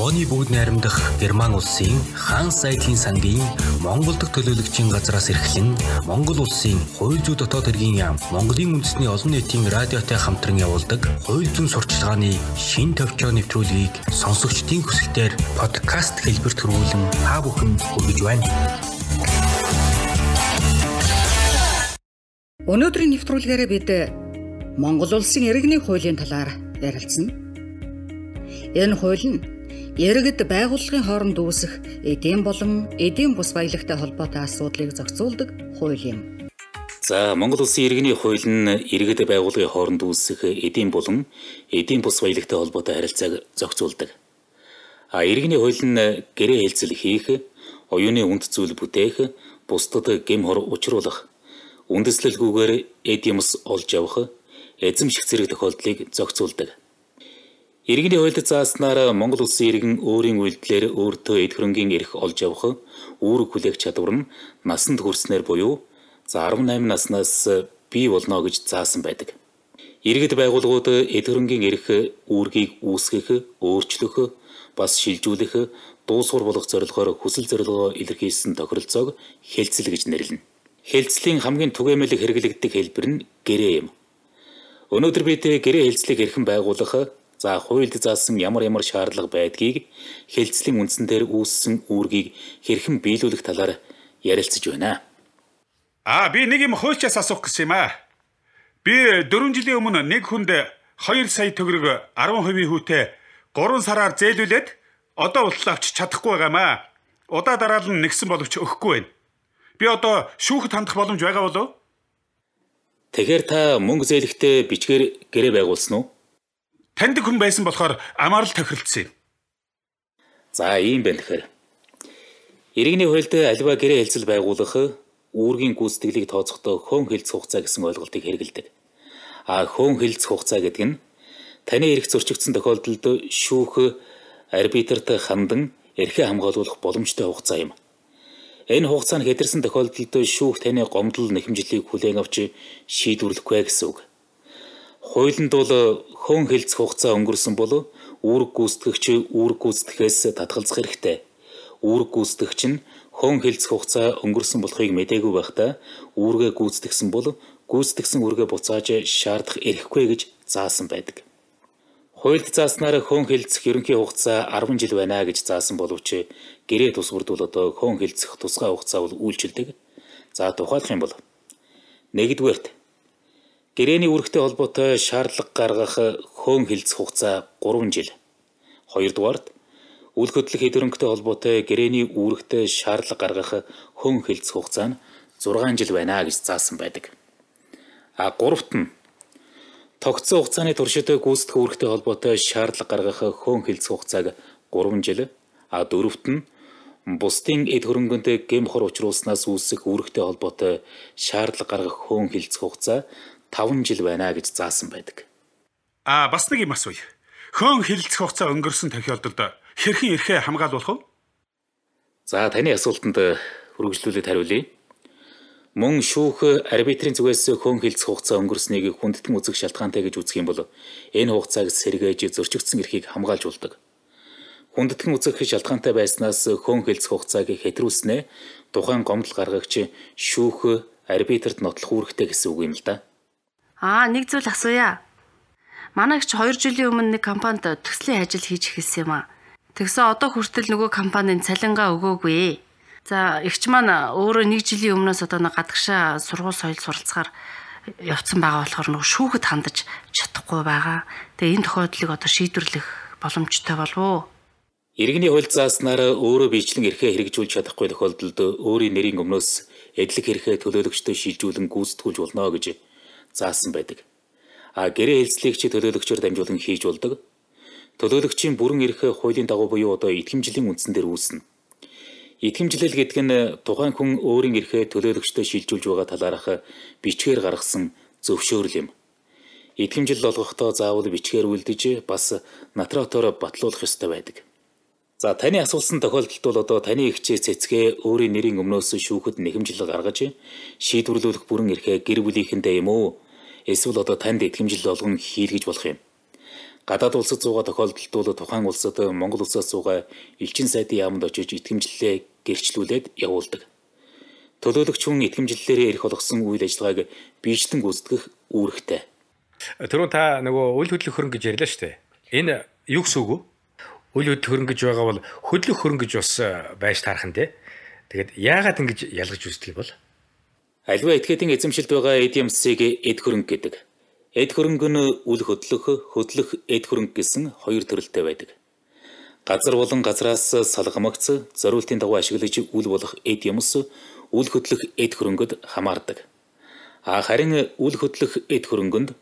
Японы бүгд найрамдах Герман улсын хаан сайдын сангийн Монгол дахь төлөөлөгчийн газраас эрхлэн Монгол улсын хууль зүйн дотоод хэргийн яам Монголын үндэсний олон нийтийн радиотой хамтран явуулдаг хууль зүйн сурчлагын шин төвчөө нэвтрүүлгийг сонсогчдын хүсэлтээр подкаст хэлбэрт хөрвүүлэн та бүхэн хүргэж байна. Өнөөдрийн нэвтрүүлгээрээ бид Монгол улсын иргэний хуулийн талаар ярилцсан. Энэ хууль нь иргэд байгууллагын хооронд үүсэх эдийн болон эдийн бус баялагтай холбоотой асуудлыг зохицуулдаг хууль юм. За, Монгол улсын иргэний хууль нь иргэд байгууллагын хооронд үүсэх эдийн болон эдийн бус баялагтай холбоотой харилцааг зохицуулдаг. Иргэний хууль нь гэрээ хэлцэл хийх, оюуны үнд зүйл бүтээх, бусдад гэм хор учруулах, үндэслэлгүйгээр эд юмс олж явах, эзэмших зэрэг тохиолдлыг зохицуулдаг. Иргэний хуульд зааснаар Монгол улсын иргэн өөрийн үйлдэлээр өөртөө эд хөрөнгийн эрх олж явах, үүрэг хүлээх чадвар нь насанд хүрснээр буюу 18 наснаас бий болно гэж заасан байдаг. Иргэд байгууллагууд эд хөрөнгийн эрх үүргийг үүсгэх, өөрчлөх, бас шилжүүлэх, дуусгар болгох зорилгоор хүсэл зорилгоо илэрхийлсэн тохиролцоог хэлцэл гэж нэрлэнэ. Хэлцлийн хамгийн түгээмэл хэрэглэгддэг хэлбэр нь гэрээ юм. Өнөөдөр бид гэрээ хэлцлийг хэрхэн байгуулах, хуульд заасан ямар шаардлага байдгийг, хэлцлийн үндсэн дээр үүссэн үүргийг хэрхэн биелүүлэх талаар ярилцаж байна. Би нэг юм хуульчаас асуух гэж юм аа. Би 4 жилийн өмнө нэг хүнд 2 сая төгрөг 10% хүүтэй 3 сараар зээлүүлээд одоо болтол авч чадахгүй байгаамаа. Удаа дараал нь нэгсэн боловч өгөхгүй байна. Би одоо шүүхэд хандах боломж байгаа болов? Тэгэхээр та мөнгө зээлэхдээ бичгээр гэрээ байгуулсан уу? Таньдаг хүн байсан болохоор амаарл тохиролцсон юм. За, ийм байна тэгэхээр. Иргэний хуульд аливаа гэрээ хэлцэл байгуулах, үүргийн гүйцэтгэлийг тооцохдоо хөөн хэлцэх хугацаа гэсэн ойлголтыг хэрэглэдэг. Хөөн хэлцэх хугацаа гэдэг нь таны эрх зөрчигдсөн тохиолдолд шүүх арбитрт хандан эрхээ хамгаалуулах боломжтой хугацаа юм. Энэ хугацаа нь хэдэрсэн тохиолдолд шүүх таны гомдол нэхэмжлийг хүлээн авч шийдвэрлэхгүй гэсэн үг. Хуулинд бол хөөн хэлцэх хугацаа өнгөрсөн бол үүрэг гүйцэтгэгч үүрэг гүйцэтгэхээс татгалзах хэрэгтэй. Үүрэг гүйцэтгэгч нь хөөн хэлцэх хугацаа өнгөрсөн болохыг мэдээгүй байхдаа үүргээ гүйцэтгсэн бол гүйцэтгсэн үүргээ буцааж шаардах эрхгүй гэж заасан байдаг. Хуульд зааснаар хөөн хэлцэх ерөнхий хугацаа 10 жил байна гэж заасан боловч гэрээ тусвард бол одоо хөөн хэлцэх тусгай хугацаа бол үйлчилдэг. Тухайлах юм бол 1-р гэрээний үүрэгтэй холбоотой шаардлага гаргах хөөн хэлцэх хугацаа 3 жил. 2-р үл хөдлөх эд хөрөнгөтэй холбоотой гэрээний үүрэгтэй шаардлага гаргах хөөн хэлцэх хугацаа нь 6 жил байна гэж заасан байдаг. 3-т нь тогтсон хугацааны туршид гүйцэтгэх үүрэгтэй холбоотой шаардлага гаргах хөөн хэлцэх хугацааг 3 жил. 4-т нь бусдын эд хөрөнгөнд гэм хор учруулснаас үүсэх үүрэгтэй холбоотой шаардлага гаргах хөөн хэлцэх хугацаа 5 жил байна гэж заасан байдаг. Бас нэг юм асууя. Хөөн хэлцэх хугацаа өнгөрсөн тохиолдолд хэрхэн эрхээ хамгаалуулах вэ? Таны асуултанд үргэлжлүүлээд хариулъя. Мөн шүүх арбитрийн зүгээс хөөн хэлцэх хугацаа өнгөрснийг хүндэтгэн үзэх шалтгаантай гэж үзэх юм бол энэ хугацааг сэргээж зөрчигдсөн эрхийг хамгаалж болдог. Хүндэтгэн үзэх шалтгаантай байснаас хөөн хэлцэх хугацааг хэтрүүлснээр тухайн гомдол гаргагч шүүх арбитрт нотлох үүрэгтэй гэсэн үг юм л да. Нэг зүйл асууя. Манайч 2 жилийн өмнө нэг компанид төслийн ажил хийж эхэлсэн юм аа. Тэгсэн одоо хүртэл нөгөө компанийн цалингаа өгөөгүй. Эгч маань өөрөө 1 жилийн өмнөөс одоо нэг гадагшаа сургууль соёл суралцахаар явцсан байгаа болохоор нөгөө шүүхэд хандаж чадахгүй байгаа. Тэгээ энэ тохиолдлыг одоо шийдвэрлэх боломжтой болов уу? Иргэний хууль зааснаар өөрөө биечлэн эрхээ хэрэгжүүлж чадахгүй тохиолдолд өөрийн нэрийн өмнөөс эдлэг эрхээ төлөөлөгчдөө шилжүүлэн гүйцэтгүүлж болно гэж заасан байдаг. Гэрээ хэлцлийг төлөөлөгчөөр дамжуулан хийж болдог. Төлөөлөгчийн бүрэн эрх хуулийн дагуу буюу одоо итгэмжлийн үндсэн дээр үүснэ. Итгэмжлэл гэдэг нь тухайн хүн өөрийн эрхээ төлөөлөгчдөө шилжүүлж байгаа талаарх бичгээр гаргасан зөвшөөрөл юм. Итгэмжил олгохдоо заавал бичгээр үлдэж бас нотариотоор батлуулах ёстой байдаг. Таны асуусан тохиолдолд бол одоо таны эгчээ цэцгээ өөрийн нэрийн өмнөөс шүүхэд нэхэмжил гаргаж шийдвэрлүүлэх бүрэн эрхээ гэр бүлийнхэндээ юм уу? Эсвэл одоо танд итгэмжил олгон хийлгэж болох юм. гадаад улсад суугаа тохиолдолд бол тухайн улсад Монгол улсаас суугаа элчин сайдын яамд очиж итгэмжлэлээ гэрчлүүлээд явуулдаг. Төлөөлөгч хүн итгэмжлэлээр эрх олгосон үйл ажиллагааг биечлэн гүйцэтгэх үүрэгтэй. Түрүүн та нөгөө үйл хөдлөх хөрөнгө гэж ярьлаа шүү дээ. Энэ юу гэсэн үг вэ? Үйл хөдлөх хөрөнгө гэж байгаа бол хөдлөх хөрөнгө гэж бас байж таарах нь те. Тэгээд яагаад ингэж ялгаж үздэг юм бол? Аливаа этгээдийн эзэмшилд байгаа эд ямсыг эд хөрөнгө гэдэг. Эд хөрөнгө нь үл хөдлөх эд хөрөнгө гэсэн хоёр төрөлтэй байдаг. Газар болон газраас салгамагц зориултын дагуу ашиглаж үл болох эд юмс үл хөдлөх эд хөрөнгөд хамаардаг. Харин үл хөдлөх эд хөрөнгөнд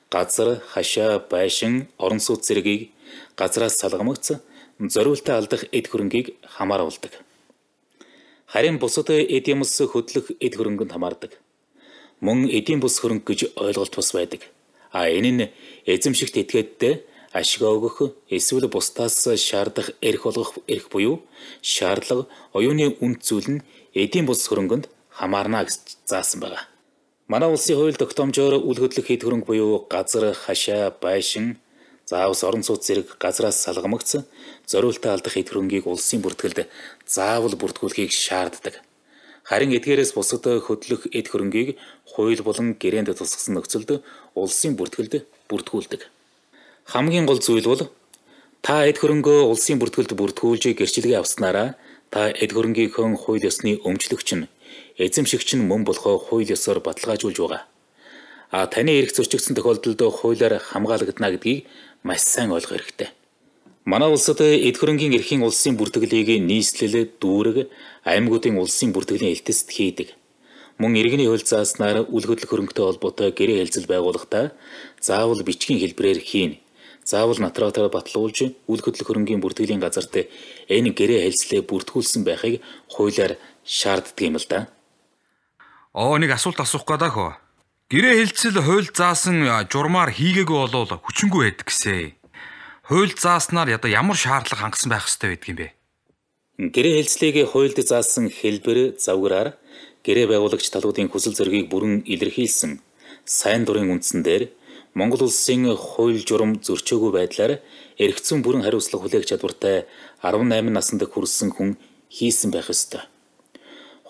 газар, хашаа, байшин, орон сууц зэргийг газраас салгамагц зориултаа алдах эд хөрөнгийг хамааруулдаг. Харин бусад эд юмс хөдлөх эд хөрөнгөнд хамаардаг. Мөн эдийн бус хөрөнгө гэж ойлголт бас байдаг. Энэ нь эзэмшигт этгээдтэй ашиг өгөх эсвэл бусдаас шаардах эрх олгох эрх буюу шаардлага, оюуны үнд зүйл нь эдийн бус хөрөнгөнд хамаарна гэж заасан байна. Манай улсын хууль тогтоомжоор үл хөдлөх эд хөрөнгө буюу газар, хашаа, байшин, заавс орон сууц зэрэг газраас салгамагц зориултаа алдах эд хөрөнгийг улсын бүртгэлд заавал бүртгүүлэхийг шаарддаг. Харин эдгээрээс бусад хөдлөх эд хөрөнгийг хууль болон гэрээнд тусгасан нөхцөлд улсын бүртгэлд бүртгүүлдэг. Хамгийн гол зүйл бол та эд хөрөнгөө улсын бүртгэлд бүртгүүлж гэрчилгээ авснараа та эд хөрөнгийнхөө хууль ёсны өмчлөгч нь эзэмшигч нь мөн болохоо хууль ёсоор баталгаажуулж байгаа. Таны эрх зөрчигдсөн тохиолдолд хуулиар хамгаалагдана гэдгийг маш сайн ойлгох хэрэгтэй. Манай улсад эд хөрөнгийн эрхийн улсын бүртгэлийг нийслэл, дүүрэг, аймагуудын улсын бүртгэлийн элтэст хийдэг. Мөн иргэний хууль зааснаар үл хөдлөх хөрөнгөтэй холбоотой гэрээ хэлцэл байгуулахдаа заавал бичгийн хэлбэрээр хийн. Заавал нотариотоор баталуулж үл хөдлөх хөрөнгөний бүртгэлийн газарт энэ гэрээ хэлцлээ бүртгүүлсэн байхыг хуулиар шаарддаг юм л да. Нэг асуулт асуух гэдэг хөө. Гэрээ хэлцэл хууль заасан журмаар хийгээгүй болвол хүчингүй байдаг гэсэн. Хууль зааснаар ямар шаардлага хангасан байх ёстой байдаг юм бэ? Гэрээ хэлцлийг хуульд заасан хэлбэр завгараар гэрээ байгуулагч талуудын хүсэл зоригийг бүрэн илэрхийлсэн сайн дурын үндсэн дээр Монгол улсын хууль журам зөрчөөгүй байдлаар эргэцэн бүрэн хариуцлага хүлээх чадвартай 18 наснд хүрсэн хүн хийсэн байх ёстой.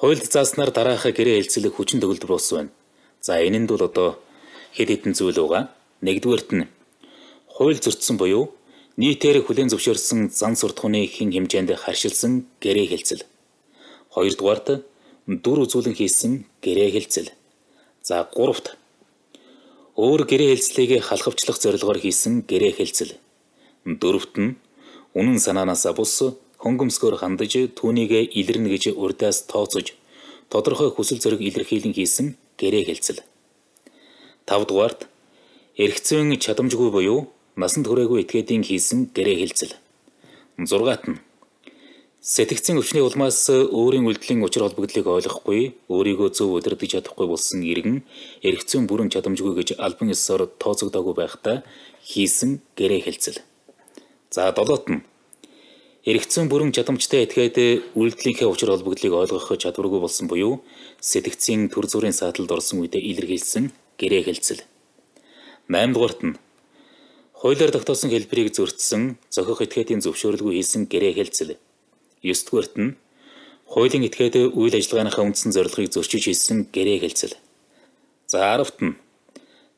Хуульд зааснаар дараах гэрээ хэлцэл хүчин төгөлдөр болсон байна. Энэ нь бол одоо хэд хэдэн зүйл байгаа. Нэгдүгээрт нь хууль зөрчсөн буюу нийтээр хүлээн зөвшөөрсөн зан суртахууны хэн хэмжээнд харшилсан гэрээ хэлцэл. Хоёрдугаарт дүр үзүүлэн хийсэн гэрээ хэлцэл. Гуравт өөр гэрээ хэлцлийг халахвчлах зорилгоор хийсэн гэрээ хэлцэл. Дөрөвт нь үнэн санаанаас бус хөнгөмсгөөр хандаж түүнийг илэрнэ гэж урдаас тооцож тодорхой хүсэл зориг илэрхийлэн хийсэн гэрээ хэлцэл. Тавдугаарт эргэцэн чадамжгүй буюу насанд хүрээгүй этгээдийн хийсэн гэрээ хэлцэл. Зургаат нь сэтгцийн өвчний улмаас өөрийн үйлдэлийн учир холбогдлыг ойлгохгүй, өөрийгөө зөв удирдах чадахгүй болсон иргэн эргэцэн бүрэн чадамжгүй гэж албан ёсоор тооцогдоогүй байхдаа хийсэн гэрээ хэлцэл. Долоот нь эргэцэн бүрэн чадамжтай этгээд үйлдэлийнхээ учир холбогдлыг ойлгох чадваргүй болсон буюу сэтгцийн төр зүрийн сааталд орсон үедээ илэрхийлсэн гэрээ хэлцэл. 8-дугаарт нь хуулиар тогтоосон хэлбэрийг зөрчсөн, зохих этгээдийн зөвшөөрлгүй хийсэн гэрээ хэлцэл. 9-дугаарт нь хуулийн этгээд үйл ажиллагааныхаа үндсэн зорилгыг зөрчиж хийсэн гэрээ хэлцэл. 10-т нь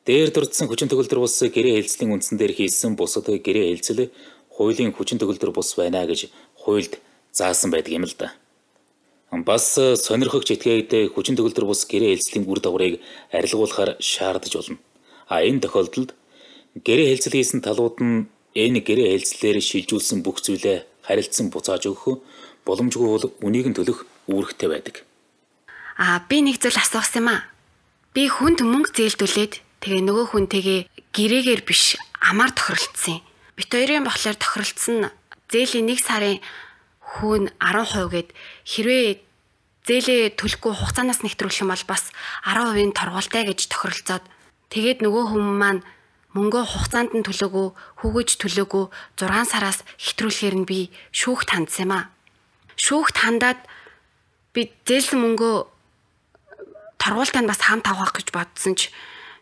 дээр дурдсан хүчин төгөлдөр бус гэрээ хэлцлийн үндсэн дээр хийсэн бусад гэрээ хэлцэл хуулийн хүчин төгөлдөр бус байна гэж хуульд заасан байдаг юм л да. Бас сонирхогч этгээд хүчин төгөлдөр бус гэрээ хэлцлийн үр дагаврыг арилгуулахар шаардаж болно. Энэ тохиолдолд гэрээ хэлцэл хийсэн талууд нь энэ гэрээ хэлцлээр шилжүүлсэн бүх зүйлээ харилцан буцааж өгөх боломжгүй бол үнийг нь төлөх үүрэгтэй байдаг. Би нэг зүйл асуусан юм аа. Би хүнд мөнгө зээлдүүлээд тэгээ нөгөө хүнтэйгээ гэрээгээр биш амаар тохиролцсон. Бит хоёрын болохоор тохиролцсон зээлийн 1 сарын хүүн 10% гээд хэрвээ зээлээ төлөхгүй хугацаанаас нэвтрүүлэх юм бол бас 10% торгуултай гэж тохиролцоод тэгээд нөгөө хүн маань мөнгөө хугацаанд нь төлөөгүй, хүүгэж төлөөгүй 6 сараас хэтрүүлэхээр нь би шүүхт хандсан юм аа. Шүүхт хандаад би зээлсэн мөнгөө торгуултанд бас хамт авах гэж бодсон ч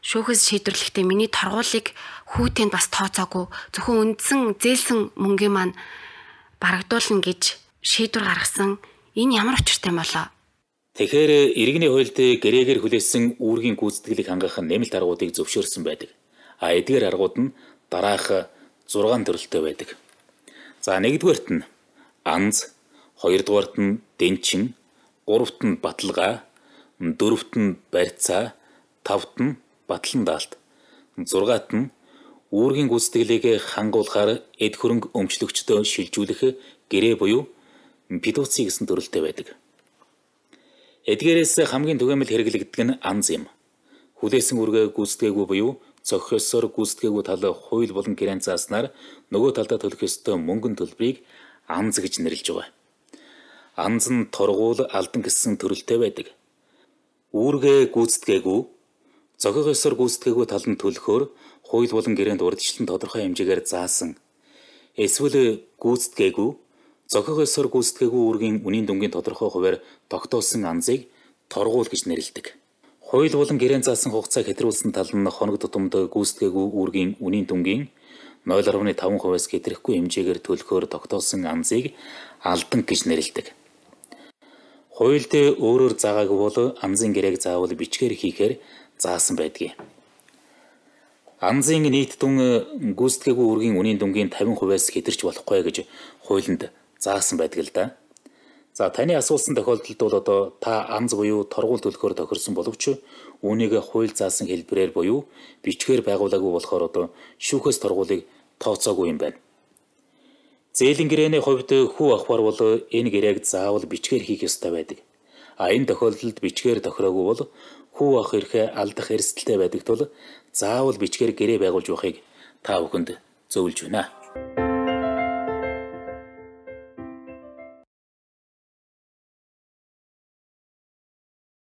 шүүхээс шийдвэрлэхдээ миний торгуулийг хүүтэнд бас тооцоогүй зөвхөн үндсэн зээлсэн мөнгөний маань барагдуулна гэж шийдвэр гаргасан. Энэ ямар учиртай болоо? Тэгэхээр иргэний хуульд гэрээгээр хүлээсэн үүргийн гүйцэтгэлийг хангах нэмэлт аргуудыг зөвшөөрсөн байдаг. А эдгээр аргууд нь дараах 6 төрөлтэй байдаг. За 1-дүгээрт нь анз, 2-дүгээрт нь дэнчин, 3-т нь баталгаа, 4-т нь барьцаа, 5-т нь батлан даалт, 6-т нь үүргийн гүйцэтгэлийг хангуулахаар эд хөрөнгө өмчлөгчдөө шилжүүлэх гэрээ буюу педуци гэсэн төрөлтэй байдаг. Эдгээрээс хамгийн түгээмэл хэрэглэгддэг нь анз юм. Хүлээсэн үүргээ гүйцэтгээгүй буюу зохиосоор гүйцэтгээгүй тал хууль болон гэрээнд зааснаар нөгөө талдаа төлөх ёстой мөнгөний төлбөрийг анз гэж нэрлэж байгаа. Анз нь торгуул алдан гэсэн төрөлтэй байдаг. Үүргээ гүйцэтгээгүй, зохиосоор гүйцэтгээгүй тал нь төлөхөөр хууль болон гэрээнд урьдчилан тодорхой хэмжээгээр заасан. Эсвэл гүйцэтгээгүй, зохиосоор гүйцэтгээгүй үүргийн үнийн дүнгийн тодорхой хувиар тогтоосон анзыг торгуул гэж нэрлэдэг. Хууль болон гэрээнд заасан хугацааг хэтрүүлсэн тал нь хоног тутамд гүйцэтгээгүй үүргийн үнийн дүнгийн 0.5%-аас хэтрэхгүй хэмжээгээр төлөхөөр тогтоосон анзыг алдан гэж нэрлэдэг. Хуульд өөрөөр заагаагүй бол анзын гэрээг заавал бичгээр хийхээр заасан байдгийг. Анзын нийт дүн гүйцэтгээгүй үүргийн үнийн дүнгийн 50%-аас хэтэрч болохгүй гэж хуулинд заасан байдаг л да. За таны асуусан тохиолдолд бол одоо та анз буюу торгуул төлөхөөр тохирсон боловч үүнийг хууль заасан хэлбэрээр буюу бичгээр байгуулаагүй болохоор одоо шүүхээс торгуулийг тооцоогүй юм байна. Зээлийн гэрээний хувьд хүү авахар бол энэ гэрээг заавал бичгээр хийх ёстой байдаг. А энэ тохиолдолд бичгээр тохироогүй бол хүү авах эрхээ алдах эрсдэлтэй байдаг тул заавал бичгээр гэрээ байгуулж байхыг та бүхэнд зөвлөж байна.